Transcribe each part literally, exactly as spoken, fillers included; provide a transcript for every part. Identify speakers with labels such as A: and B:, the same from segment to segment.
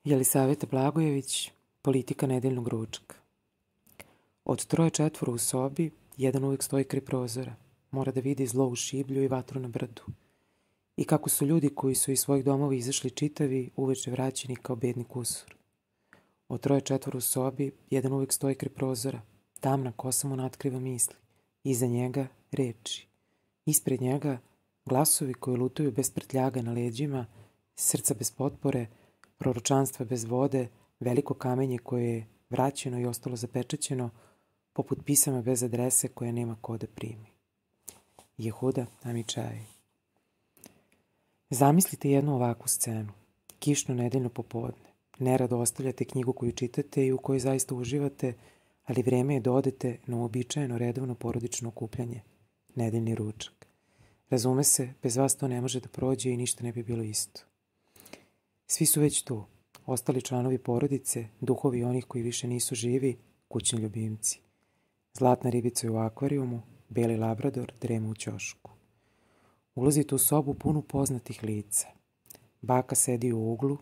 A: Jelisaveta Blagojević, politika nedeljnog ručka. Od troje četvoro u sobi, jedan uvek stoji kraj prozora. Mora da vidi zlo u šiblju i vatru na brdu. I kako su ljudi koji su iz svojih domova izašli čitavi, uveče vraćeni kao bedni kusur. Od troje četvoro u sobi, jedan uvek stoji kraj prozora. Tamna kosa mu natkriva misli. Iza njega reči. Ispred njega glasovi koji lutuju bez prtljaga na leđima, srca bez potpore, proročanstva bez vode, veliko kamenje koje je vraćeno i ostalo zapečaćeno, poput pisama bez adrese koje nema ko da primi. Jehuda Amičaj. Zamislite jednu ovakvu scenu. Kišno nedeljno popodne. Nerado ostavljate knjigu koju čitate i u kojoj zaista uživate, ali vreme je da odete na uobičajeno redovno porodično okupljanje. Nedeljni ručak. Razume se, bez vas to ne može da prođe i ništa ne bi bilo isto. Svi su već tu. Ostali članovi porodice, duhovi onih koji više nisu živi, kućni ljubimci. Zlatna ribica je u akvarijumu, beli labrador drema u ćošku. Ulazite u sobu punu poznatih lica. Baka sedi u uglu,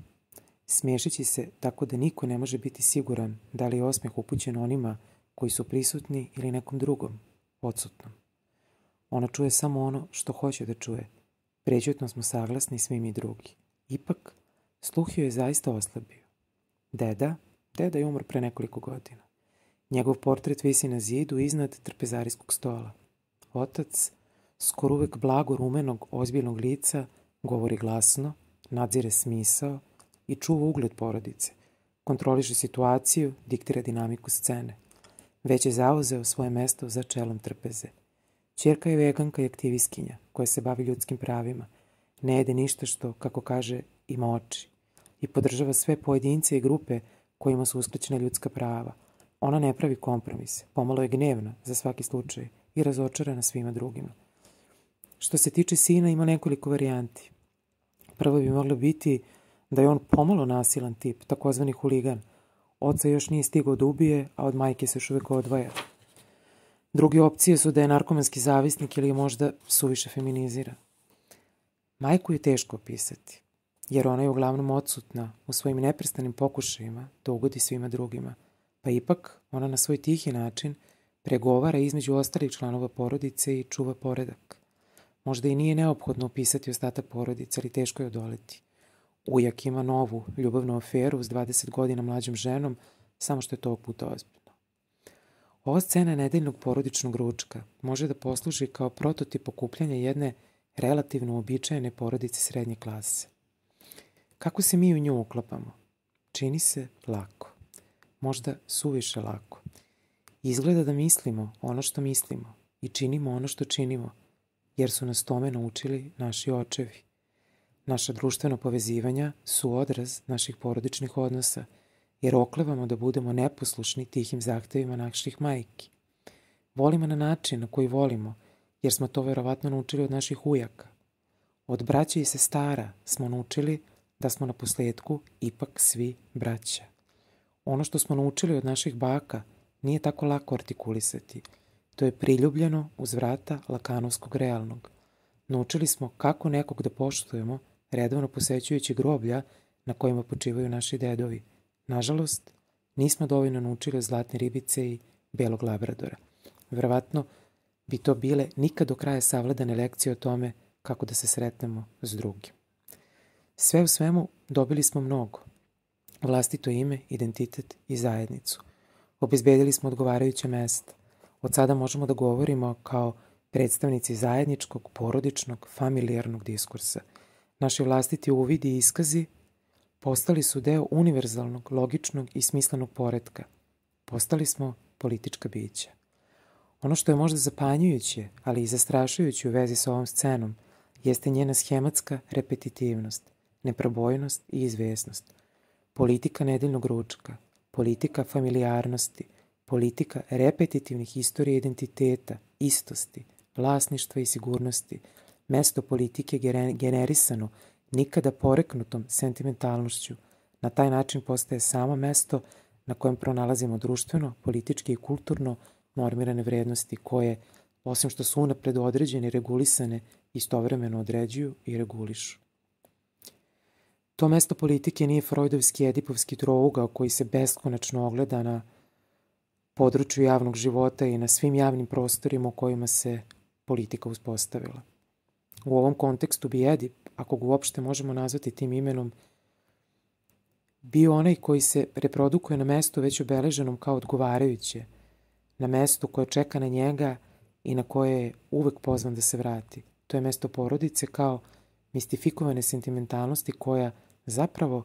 A: smiješeći se tako da niko ne može biti siguran da li je osmeh upućen onima koji su prisutni ili nekom drugom, odsutnom. Ona čuje samo ono što hoće da čuje. Prećutno smo saglasni svi mi drugi. Ipak, sluh joj je zaista oslabio. Deda, deda je umro pre nekoliko godina. Njegov portret visi na zidu iznad trpezarijskog stola. Otac, skoro uvek blago rumenog, ozbiljnog lica, govori glasno, nadzire smisao i čuva ugled porodice. Kontroliše situaciju, diktira dinamiku scene. Već je zauzeo svoje mesto za čelom trpeze. Ćerka je veganka i aktivistkinja koja se bavi ljudskim pravima. Ne jede ništa što, kako kaže, ima oči. I podržava sve pojedince i grupe kojima su uskraćena ljudska prava. Ona ne pravi kompromise, pomalo je gnevna za svaki slučaj i razočarana svima drugima. Što se tiče sina, ima nekoliko varijanti. Prvo bi moglo biti da je on pomalo nasilan tip, takozvani huligan. Oca još nije stigao da ubije, a od majke se još uvek odvaja. Druge opcije su da je narkomanski zavisnik ili je možda suviše feminiziran. Majku je teško opisati, jer ona je uglavnom odsutna u svojim neprestanim pokušajima da ugodi svima drugima, pa ipak ona na svoj tihi način pregovara između ostalih članova porodice i čuva poredak. Možda i nije neophodno opisati ostatak porodice, ali teško je odoleti. Ujak ima novu ljubavnu aferu s dvadeset godina mlađom ženom, samo što je to ovog puta ozbiljno. Ova scena nedeljnog porodičnog ručka može da posluži kao prototip okupljanja jedne relativno uobičajene porodice srednje klase. Kako se mi u nju uklapamo? Čini se lako. Možda suviše lako. Izgleda da mislimo ono što mislimo i činimo ono što činimo, jer su nas tome naučili naši očevi. Naša društvena povezivanja su odraz naših porodičnih odnosa, jer oklevamo da budemo neposlušni tihim zahtevima naših majki. Volimo na način na koji volimo, jer smo to verovatno naučili od naših ujaka. Od braće i sestara smo naučili da smo na posledku ipak svi braća. Ono što smo naučili od naših baka nije tako lako artikulisati. To je priljubljeno uz vrata lakanovskog realnog. Naučili smo kako nekog da poštujemo, redovno posećujući groblja na kojima počivaju naši dedovi. Nažalost, nismo dovoljno naučili od zlatne ribice i belog labradora. Verovatno bi to bile nikad do kraja savladane lekcije o tome kako da se sretnemo s drugim. Sve u svemu dobili smo mnogo. Vlastito ime, identitet i zajednicu. Obezbedili smo odgovarajuće mesta. Od sada možemo da govorimo kao predstavnici zajedničkog, porodičnog, familijarnog diskursa. Naši vlastiti uvidi i iskazi postali su deo univerzalnog, logičnog i smislenog poretka. Postali smo politička bića. Ono što je možda zapanjujuće, ali i zastrašujuće u vezi sa ovom scenom, jeste njena schematska repetitivnost, neprobojnost i izvesnost. Politika nedeljnog ručka, politika familijarnosti, politika repetitivnih istorija identiteta, istosti, vlasništva i sigurnosti, mesto politike generisano nikada poreknutom sentimentalnošću, na taj način postaje samo mesto na kojem pronalazimo društveno, politički i kulturno normirane vrednosti koje, osim što su unapred određene i regulisane, istovremeno određuju i regulišu. To mesto politike nije freudovski edipovski trougao koji se beskonačno ogleda na području javnog života i na svim javnim prostorima u kojima se politika uspostavila. U ovom kontekstu bi Edip, ako ga uopšte možemo nazvati tim imenom, bio onaj koji se reprodukuje na mestu već obeleženom kao odgovarajuće, na mestu koje čeka na njega i na koje je uvek pozvan da se vrati. To je mesto porodice kao mistifikovane sentimentalnosti koja zapravo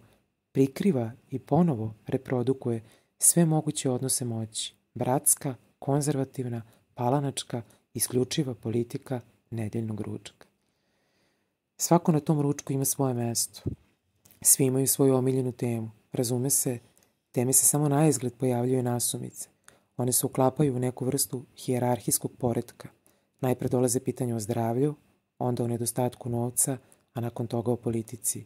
A: prikriva i ponovo reprodukuje sve moguće odnose moći. Bratska, konzervativna, palanačka, isključiva politika nedeljnog ručka. Svako na tom ručku ima svoje mesto. Svi imaju svoju omiljenu temu. Razume se, teme se samo na izgled pojavljuju nasumice. One se uklapaju u neku vrstu hijerarhijskog poretka. Najpre dolaze pitanja o zdravlju, onda o nedostatku novca, a nakon toga o politici.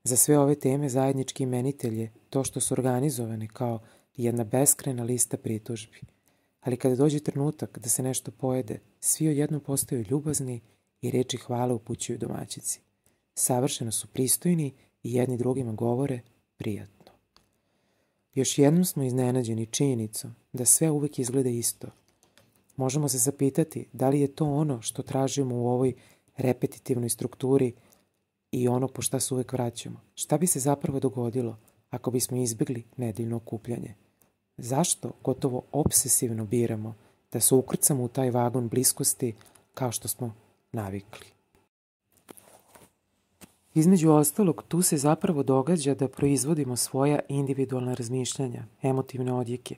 A: Za sve ove teme zajednički imenitelj je to što su organizovane kao jedna beskrajna lista pritužbi. Ali kada dođe trenutak da se nešto pojede, svi odjednom postaju ljubazni i reči hvale upućuju domaćici. Savršeno su pristojni i jedni drugima govore prijatno. Još jednom smo iznenađeni činjenicom da sve uvek izgleda isto. Možemo se zapitati da li je to ono što tražimo u ovoj repetitivnoj strukturi i ono po šta se uvek vraćamo. Šta bi se zapravo dogodilo ako bismo izbjegli nedeljno okupljanje? Zašto gotovo obsesivno biramo da se ukrcamo u taj vagon bliskosti kao što smo navikli? Između ostalog, tu se zapravo događa da proizvodimo svoja individualna razmišljanja, emotivne odjeke,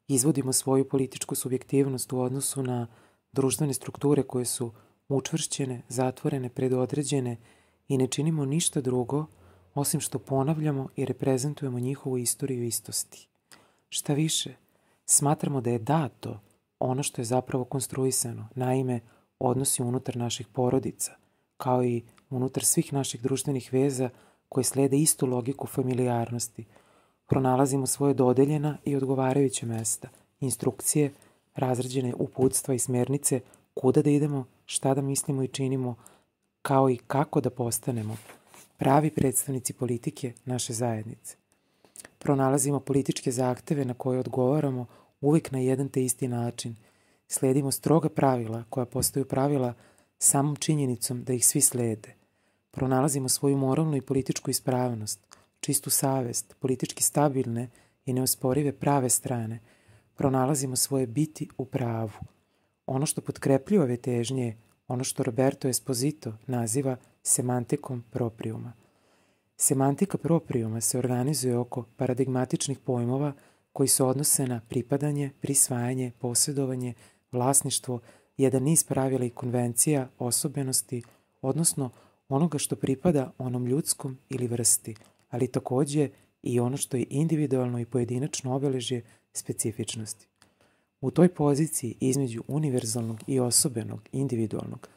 A: izvodimo svoju političku subjektivnost u odnosu na društvene strukture koje su učvršćene, zatvorene, predodređene i ne činimo ništa drugo osim što ponavljamo i reprezentujemo njihovu istoriju istosti. Šta više, smatramo da je dato ono što je zapravo konstruisano, naime, odnosi unutar naših porodica, kao i unutar svih naših društvenih veza koje slede istu logiku familijarnosti. Pronalazimo svoje dodeljena i odgovarajuće mesta, instrukcije, razrađene uputstva i smernice, kuda da idemo, šta da mislimo i činimo, kao i kako da postanemo pravi predstavnici politike naše zajednice. Pronalazimo političke zahteve na koje odgovaramo uvijek na jedan te isti način. Sledimo stroga pravila koja postaju pravila samom činjenicom da ih svi slede. Pronalazimo svoju moralnu i političku ispravnost, čistu savest, politički stabilne i neosporive prave strane. Pronalazimo svoje biti u pravu. Ono što potkrepljuje ove težnje je ono što Roberto Esposito naziva semantikom propriuma. Semantika propriuma se organizuje oko paradigmatičnih pojmova koji se odnose na pripadanje, prisvajanje, posjedovanje, vlasništvo, jedan niz pravila i konvencija, osobenosti, odnosno onoga što pripada onom ljudskom ili vrsti, ali takođe i ono što je individualno i pojedinačno obeležje specifičnosti. U toj poziciji između univerzalnog i osobenog, individualnog,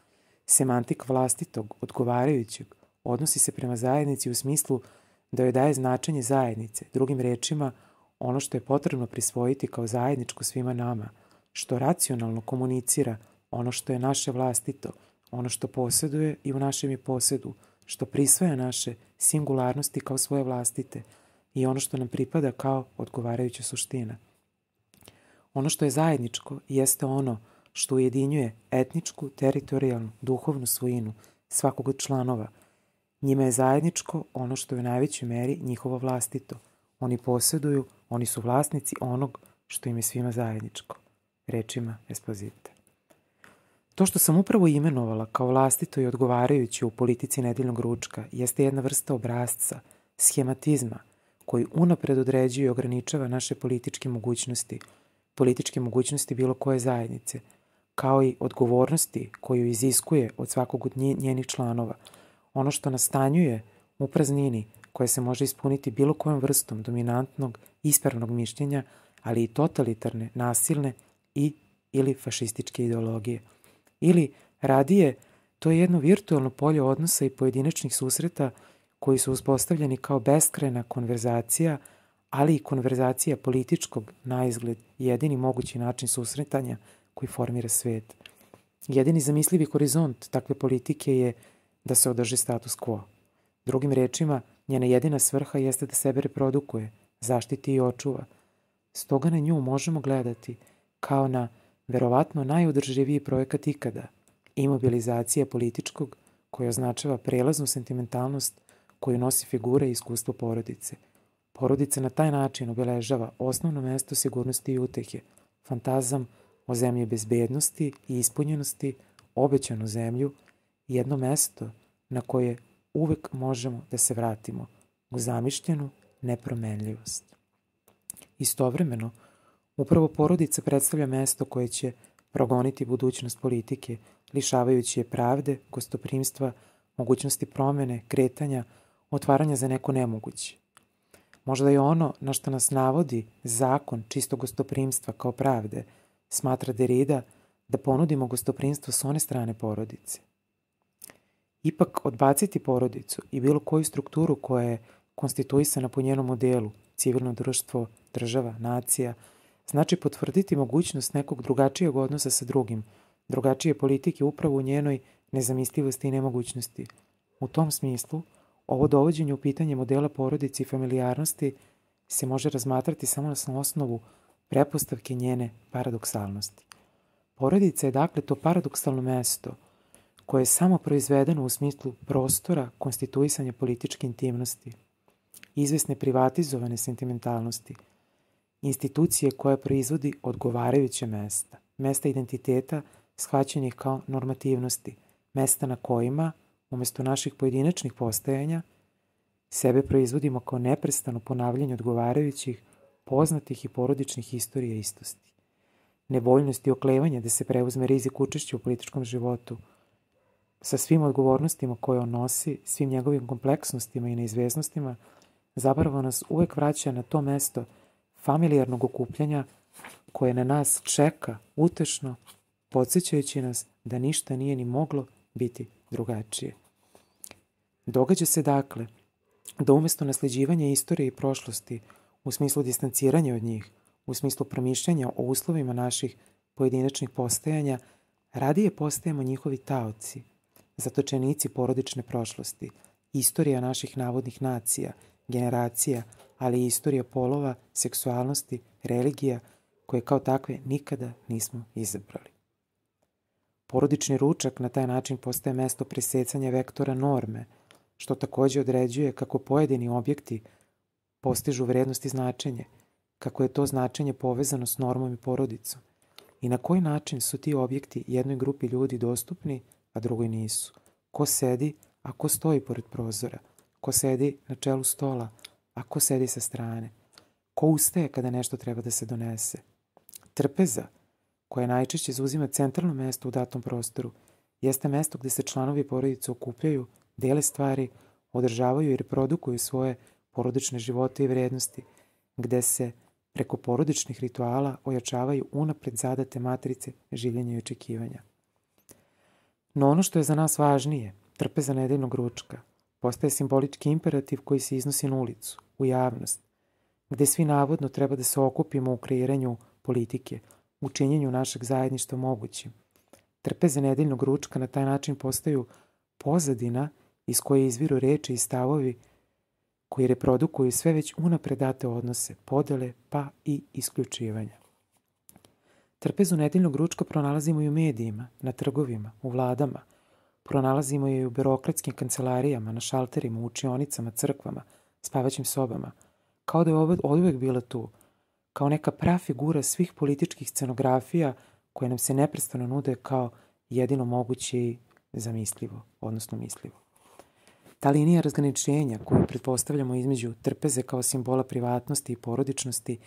A: semantik vlastitog, odgovarajućeg, odnosi se prema zajednici u smislu da joj daje značenje zajednice, drugim rečima ono što je potrebno prisvojiti kao zajedničko svima nama, što racionalno komunicira ono što je naše vlastito, ono što posjeduje i u našem je posjedu, što prisvaja naše singularnosti kao svoje vlastite i ono što nam pripada kao odgovarajuća suština. Ono što je zajedničko jeste ono što ujedinjuje etničku, teritorijalnu, duhovnu svojinu svakog od članova. Njima je zajedničko ono što je u najvećoj meri njihovo vlastito. Oni posjeduju, oni su vlasnici onog što im je svima zajedničko. Rečima Esposita. To što sam upravo imenovala kao vlastito i odgovarajuće u politici nedeljnog ručka jeste jedna vrsta obrazca, schematizma, koji unapred određuje i ograničava naše političke mogućnosti, političke mogućnosti bilo koje zajednice, kao i odgovornosti koju iziskuje od svakog od njenih članova, ono što nastanjuje u praznini koja se može ispuniti bilo kojom vrstom dominantnog, ispravnog mišljenja, ali i totalitarne, nasilne i ili fašističke ideologije. Ili, radije, to je jedno virtualno polje odnosa i pojedinačnih susreta koji su uspostavljeni kao beskrajna konverzacija, ali i konverzacija političkog, na izgled, jedini mogući način susretanja koji formira svet. Jedini zamislivi horizont takve politike je da se održi status quo. Drugim rečima, Njena jedina svrha jeste da sebe reprodukuje, zaštiti i očuva. Stoga na nju možemo gledati kao na verovatno najodrživiji projekat ikada, imobilizacija političkog koja označava prelaznu sentimentalnost koju nosi figura i iskustvo porodice. Porodica na taj način obeležava osnovno mesto sigurnosti i utehe, fantazam o zemlji bezbednosti i ispunjenosti, obećanu zemlju, jedno mesto na koje uvek možemo da se vratimo, u zamišljenu nepromenljivost. Istovremeno, upravo porodica predstavlja mesto koje će progoniti budućnost politike, lišavajući je pravde, gostoprimstva, mogućnosti promene, kretanja, otvaranja za neko nemoguće. Možda je ono na što nas navodi zakon čistog gostoprimstva kao pravde, smatra Derrida da ponudimo gostoprimstvo s one strane porodice. Ipak odbaciti porodicu i bilo koju strukturu koja je konstituisana po njenom modelu, civilno društvo, država, nacija, znači potvrditi mogućnost nekog drugačijeg odnosa sa drugim, drugačije politike upravo u njenoj nezamislivosti i nemogućnosti. U tom smislu, ovo dovođenje u pitanje modela porodice i familijarnosti se može razmatrati samo na osnovu prepostavke njene paradoksalnosti. Porodica je dakle to paradoksalno mesto koje je samo proizvedeno u smislu prostora konstituisanja političke intimnosti, izvesne privatizovane sentimentalnosti, institucije koja proizvodi odgovarajuće mesta, mesta identiteta shvaćenih kao normativnosti, mesta na kojima, umesto naših pojedinačnih postajanja, sebe proizvodimo kao neprestano ponavljanje odgovarajućih, poznatih i porodičnih istorija istosti. Nevoljnost i oklevanje da se preuzme rizik učešća u političkom životu, sa svim odgovornostima koje on nosi, svim njegovim kompleksnostima i neizvesnostima, zapravo nas uvek vraća na to mesto familijarnog okupljanja koje na nas čeka utešno, podsjećajući nas da ništa nije ni moglo biti drugačije. Događa se dakle da umesto nasleđivanja istorije i prošlosti, u smislu distanciranja od njih, u smislu promišljanja o uslovima naših pojedinačnih postajanja, radije postajemo njihovi taoci, zatočenici porodične prošlosti, istorija naših navodnih nacija, generacija, ali i istorija polova, seksualnosti, religija, koje kao takve nikada nismo izabrali. Porodični ručak na taj način postaje mesto presecanja vektora norme, što takođe određuje kako pojedini objekti postižu vrednost i značenje, kako je to značenje povezano s normom i porodicom i na koji način su ti objekti jednoj grupi ljudi dostupni, a drugoj nisu. Ko sedi, a ko stoji pored prozora, ko sedi na čelu stola, a ko sedi sa strane, ko ustaje kada nešto treba da se donese. Trpeza, koja najčešće zauzima centralno mesto u datom prostoru, jeste mesto gde se članovi porodice okupljaju, dele stvari, održavaju i reprodukuju svoje porodične živote i vrednosti, gde se preko porodičnih rituala ojačavaju unapred zadate matrice življenja i očekivanja. No ono što je za nas važnije, trpeza nedeljnog ručka, postaje simbolički imperativ koji se iznosi na ulicu, u javnost, gde svi navodno treba da se okupimo u kreiranju politike, u činjenju našeg zajedništva mogućim. Trpeze nedeljnog ručka na taj način postaju pozadina iz koje izviru reči i stavovi koji reprodukuju sve već unapred date odnose, podele pa i isključivanja. Trpezu nedeljnog ručka pronalazimo i u medijima, na trgovima, u vladama, pronalazimo je i u birokratskim kancelarijama, na šalterima, u učionicama, crkvama, spavaćim sobama, kao da je ovo oduvek bila tu, kao neka prafigura svih političkih scenografija koje nam se neprestano nude kao jedino moguće i zamislivo, odnosno mislivo. Ta linija razgraničenja koju pretpostavljamo između trpeze kao simbola privatnosti i porodičnosti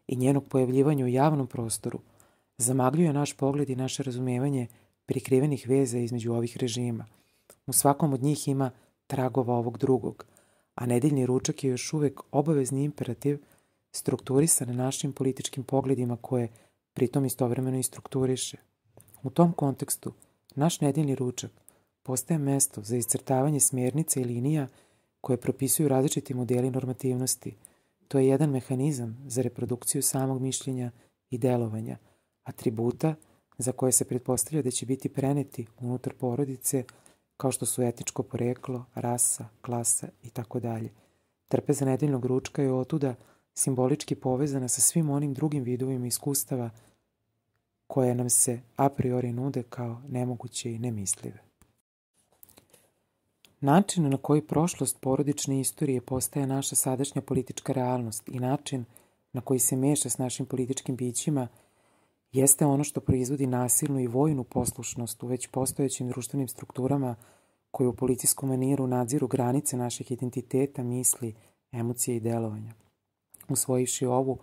A: i njenog pojavljivanja u javnom prostoru zamagljuje naš pogled i naše razumevanje prikrivenih veza između ovih režima. U svakom od njih ima tragova ovog drugog, a nedeljni ručak je još uvek obavezni imperativ strukturisan našim političkim pogledima koje pritom istovremeno i strukturiše. U tom kontekstu, naš nedeljni ručak postaje mesto za iscrtavanje smjernica i linija koje propisuju različiti modeli normativnosti. To je jedan mehanizam za reprodukciju samog mišljenja i delovanja, atributa za koje se pretpostavlja da će biti preneti unutar porodice, kao što su etičko poreklo, rasa, klasa i tako dalje. Trpeza nedeljnog ručka je otuda simbolički povezana sa svim onim drugim vidovima iskustava koje nam se a priori nude kao nemoguće i nemislive. Način na koji prošlost porodične istorije postaje naša sadašnja politička realnost i način na koji se meša s našim političkim bićima jeste ono što proizvodi nasilnu i vojnu poslušnost u već postojećim društvenim strukturama koje u policijskom maniru nadziru granice naših identiteta, misli, emocije i delovanja. Usvojivši ovu,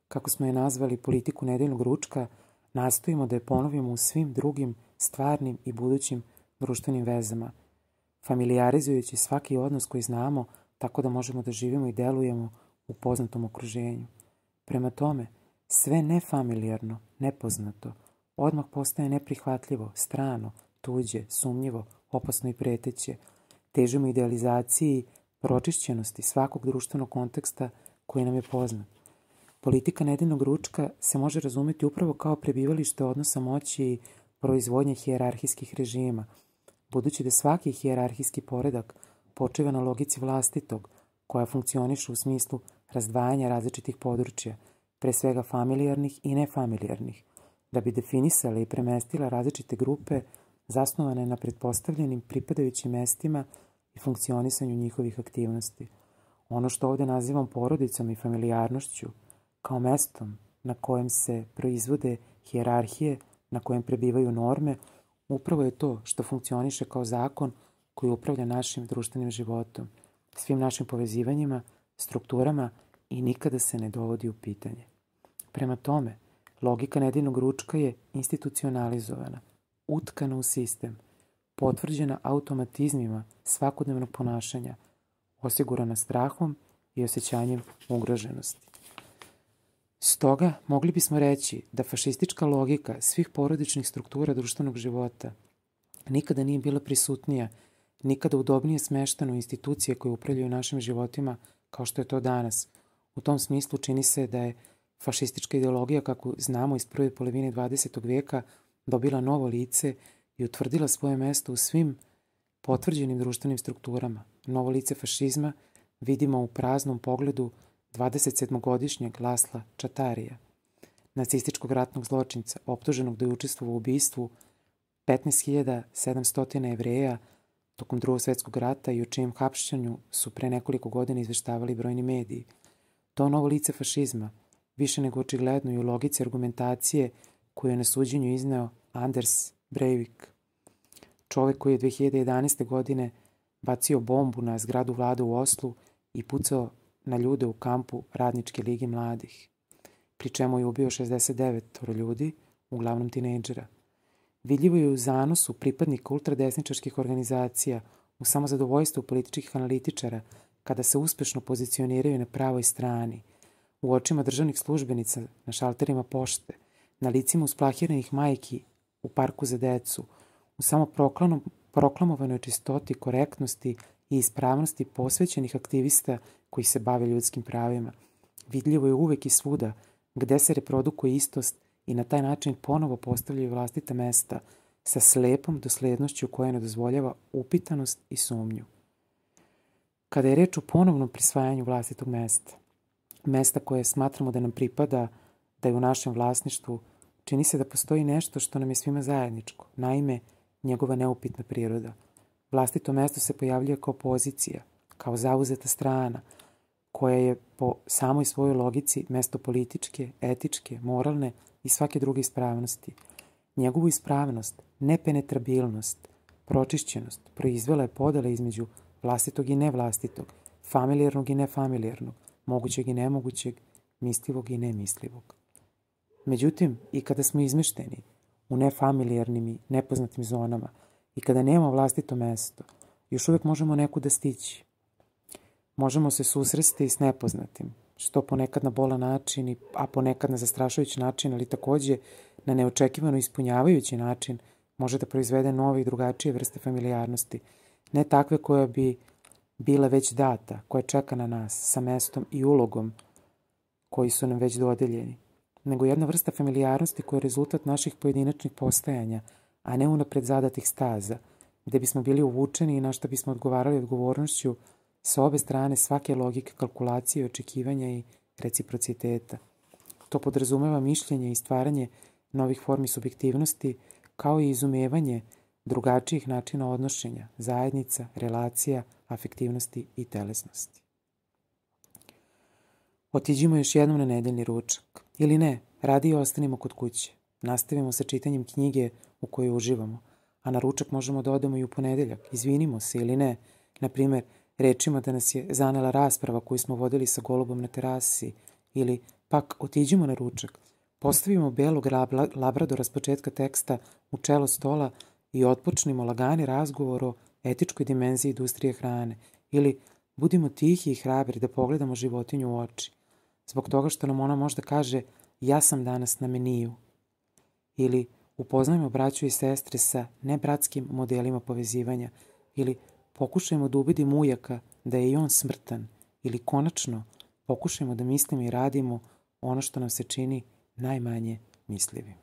A: kako smo je nazvali, politiku nedeljnog ručka, nastojimo da je ponovimo u svim drugim stvarnim i budućim društvenim vezama, familijarizujući svaki odnos koji znamo tako da možemo da živimo i delujemo u poznatom okruženju. Prema tome, sve nefamilijarno, nepoznato, odmah postaje neprihvatljivo, strano, tuđe, sumnjivo, opasno i preteće. Težimo idealizaciji pročišćenosti svakog društvenog konteksta koji nam je poznat. Politika nedeljnog ručka se može razumeti upravo kao prebivalište odnosa moći i proizvodnje hijerarhijskih režima, budući da svaki hijerarhijski poredak počiva na logici vlastitog, koja funkcioniše u smislu razdvajanja različitih područja, pre svega familijarnih i nefamilijarnih, da bi definisala i premestila različite grupe zasnovane na pretpostavljenim pripadajućim mestima i funkcionisanju njihovih aktivnosti. Ono što ovdje nazivam porodicom i familijarnošću, kao mestom na kojem se proizvode hijerarhije, na kojem prebivaju norme, upravo je to što funkcioniše kao zakon koji upravlja našim društvenim životom, svim našim povezivanjima, strukturama i nikada se ne dovodi u pitanje. Prema tome, logika nedeljnog ručka je institucionalizovana, utkana u sistem, potvrđena automatizmima svakodnevnog ponašanja, osigurana strahom i osjećanjem ugroženosti. Stoga, mogli bismo reći da fašistička logika svih porodičnih struktura društvenog života nikada nije bila prisutnija, nikada udobnije smeštena u institucije koje upravljaju našim životima kao što je to danas. U tom smislu čini se da je fašistička ideologija, kako znamo iz prve polovine dvadesetog veka, dobila novo lice i utvrdila svoje mesto u svim potvrđenim društvenim strukturama. Novo lice fašizma vidimo u praznom pogledu dvadesetsedmogodišnjeg Lasla Čatarija, nacističkog ratnog zločinca, optuženog da je učestvovao u ubistvu petnaest hiljada sedamsto Jevreja tokom Drugog svjetskog rata i o čijem hapšenju su pre nekoliko godina izveštavali brojni mediji. To novo lice fašizma, više nego očigledno i u logici argumentacije koju je na suđenju izneo Anders Breivik, čovek koji je dve hiljade jedanaeste. godine bacio bombu na zgradu vlade u Oslu i pucao na ljude u kampu Radničke lige mladih, pri čemu je ubio šezdeset devet ljudi, uglavnom tinejdžera. Vidljivo je u zanosu pripadnika ultradesničarskih organizacija, u samozadovoljstvu političkih analitičara, kada se uspešno pozicioniraju na pravoj strani, u očima državnih službenica, na šalterima pošte, na licima usplahiranih majki u parku za decu, u samo proklamovanoj čistoti, korektnosti i ispravnosti posvećenih aktivista koji se bave ljudskim pravima. Vidljivo je uvek i svuda gde se reprodukuje istost i na taj način ponovo postavljaju vlastita mesta sa slepom doslednošću koja ne dozvoljava upitanost i sumnju. Kada je reč o ponovnom prisvajanju vlastitog mesta, mesta koje smatramo da nam pripada, da je u našem vlasništvu, čini se da postoji nešto što nam je svima zajedničko, naime, njegova neupitna priroda. Vlastito mesto se pojavljuje kao pozicija, kao zauzeta strana, koja je po samoj svojoj logici mesto političke, etičke, moralne i svake druge ispravnosti. Njegovu ispravnost, nepenetrabilnost, pročišćenost proizvela je podela između vlastitog i nevlastitog, familijarnog i nefamilijarnog, mogućeg i nemogućeg, mislivog i nemislivog. Međutim, i kada smo izmešteni u nefamilijarnim i nepoznatim zonama i kada nemamo vlastito mesto, još uvek možemo nekuda stići. Možemo se susresti s nepoznatim, što ponekad na bolan način, a ponekad na zastrašujući način, ali takođe na neočekivano ispunjavajući način može da proizvede nove i drugačije vrste familijarnosti, ne takve koja bi bila već data, koja čeka na nas sa mestom i ulogom koji su nam već dodeljeni, nego jedna vrsta familijarnosti koja je rezultat naših pojedinačnih postajanja, a ne unapred zadatih staza, gde bismo bili uvučeni i na što bismo odgovarali odgovornošću sa obe strane svake logike, kalkulacije, očekivanja i reciprociteta. To podrazumeva mišljenje i stvaranje novih formi subjektivnosti, kao i izumevanje drugačijih načina odnošenja, zajednica, relacija, afektivnosti i telesnosti. Otiđimo još jednom na nedeljni ručak. Ili ne, radije ostanimo kod kuće. Nastavimo sa čitanjem knjige u kojoj uživamo, a na ručak možemo da odemo i u ponedeljak. Izvinimo se ili ne, na primer, rečima da nas je zanela rasprava koju smo vodili sa golubom na terasi, ili pak otiđimo na ručak, postavimo belog labradora s početka teksta u čelo stola i otpočnimo lagani razgovor o etičkoj dimenziji industrije hrane, ili budimo tihi i hrabri da pogledamo životinju u oči, zbog toga što nam ona možda kaže ja sam danas na meniju, ili upoznajmo braću i sestre sa nebratskim modelima povezivanja, ili pokušajmo da ubedimo ujaka da je i on smrtan, ili konačno pokušajmo da mislimo i radimo ono što nam se čini najmanje mislivim.